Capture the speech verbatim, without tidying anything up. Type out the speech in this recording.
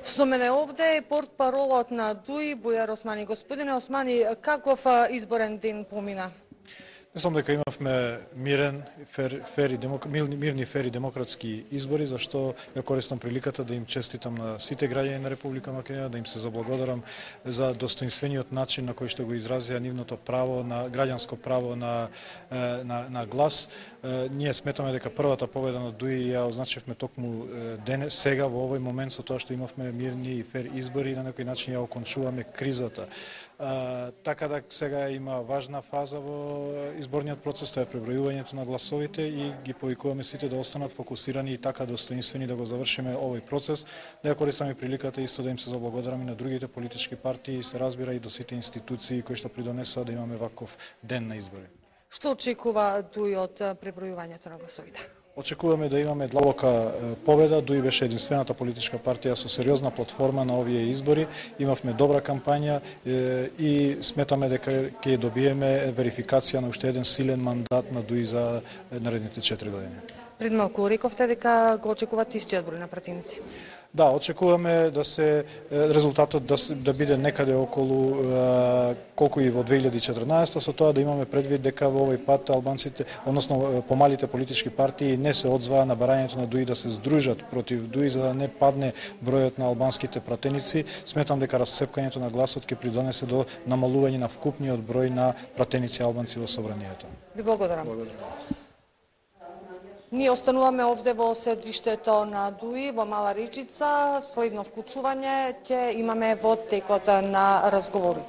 Со мене овде е портпаролот на ДУИ Бујар Османи. Господине Османи, каков изборен ден помина? Мислам дека имавме мирен, фер, фер и демок... мирни, фер и демократски избори, зашто ја користам приликата да им честитам на сите граѓани на Република Македонија, да им се заблагодарам за достоинствениот начин на кој што го изразија нивното право на граѓанско право на на, на глас. Ние сметаме дека првата победа на ДУИ ја означевме токму денес, сега во овој момент, со тоа што имавме мирни и фер избори и на некој начин ја окончуваме кризата. Uh, така да сега има важна фаза во изборниот процес, тоа е пребројувањето на гласовите и ги повикуваме сите да останат фокусирани и така достоинствени да го завршиме овој процес. Да ја користаме приликата исто да им се заблагодарам и на другите политички партии и се разбира и до сите институции кои што придонесоа да имаме ваков ден на избори. Што очекува ДУИ од пребројувањето на гласовите? Очекуваме да имаме длабока победа. ДУИ беше единствената политичка партија со сериозна платформа на овие избори. Имавме добра кампања и сметаме дека ќе добиеме верификација на уште еден силен мандат на ДУИ за наредните четири години. Пред малку рековте дека го очекувате истиот број на пратеници. Да, очекуваме да се резултатот да, да биде некаде околу е, колку и во две илјади и четрнаесета, со тоа да имаме предвид дека во овој пат албанците, односно помалите политички партии не се одзваа на барањето на ДУИ да се здружат против ДУИ за да не падне бројот на албанските пратеници. Сметам дека расцепкањето на гласот ќе придонесе до намалување на вкупниот број на пратеници албанци во собранието. Ви благодарам. Ние остануваме овде во седиштето на ДУИ во Мала Речица. Следно вклучување ќе имаме во текот на разговорите.